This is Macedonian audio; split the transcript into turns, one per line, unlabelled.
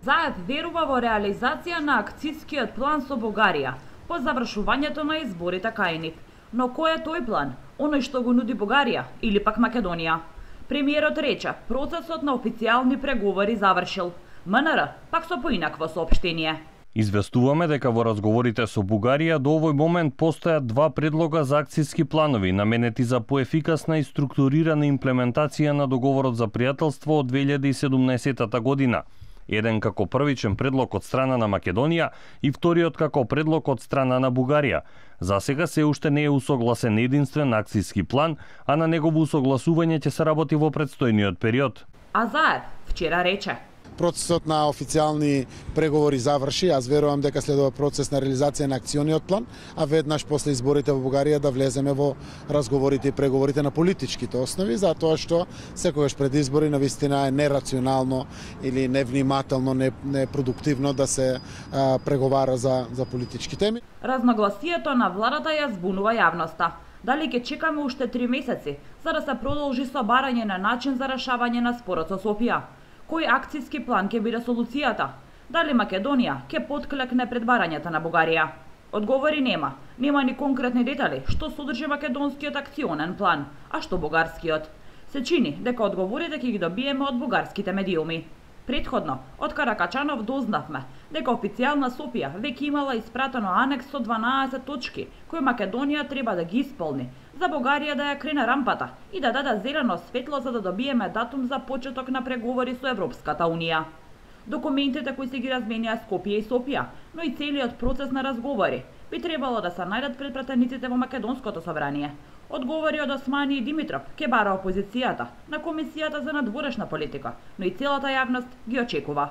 Заев верува во реализација на акцискиот план со Бугарија по завршувањето на изборите кај нив. Но кој е тој план? Оној што го нуди Бугарија или пак Македонија? Премиерот рече, процесот на официјални преговори завршил. МНР пак со поинакво соопштение.
Известуваме дека во разговорите со Бугарија до овој момент постојат два предлога за акциски планови наменети за поефикасна и структурирана имплементација на договорот за пријателство од 2017 година. Еден како првичен предлог од страна на Македонија и вториот како предлог од страна на Бугарија. За сега се уште не е усогласен единствен акциски план, а на негово усогласување ќе се работи во претстојниот период.
А Заев вчера рече:
процесот на официјални преговори заврши. Аз верувам дека следува процес на реализација на акциониот план, а веднаш после изборите во Бугарија да влеземе во разговорите и преговорите на политичките основи, затоа што секогаш пред избори навистина е нерационално или невнимателно, непродуктивно да се преговара за политички теми.
Разногласието на владата ја збунува јавноста. Дали ќе чекаме уште 3 месеци за да се продолжи собарање на начин за решавање на спорот со Софија? Кој акциски план ќе биде солуцијата? Дали Македонија ќе потклекне пред барањата на Бугарија? Одговори нема. Нема ни конкретни детали што содржи македонскиот акционен план, а што бугарскиот. Се чини дека одговорите ќе ги добиеме од бугарските медиуми. Претходно, од Каракачанов дознавме дека официјална Софија веќе имала испратено анекс со 12 точки кои Македонија треба да ги исполни, за Бугарија да ја крене рампата и да даде зелено светло за да добиеме датум за почеток на преговори со Европската Унија. Документите кои се ги разменија Скопје и Софија, но и целиот процес на разговори би требало да се најдат пред пратениците во Македонското собрание. Одговори од Османи Димитров ке бара опозицијата на Комисијата за надворешна политика, но и целата јавност ги очекува.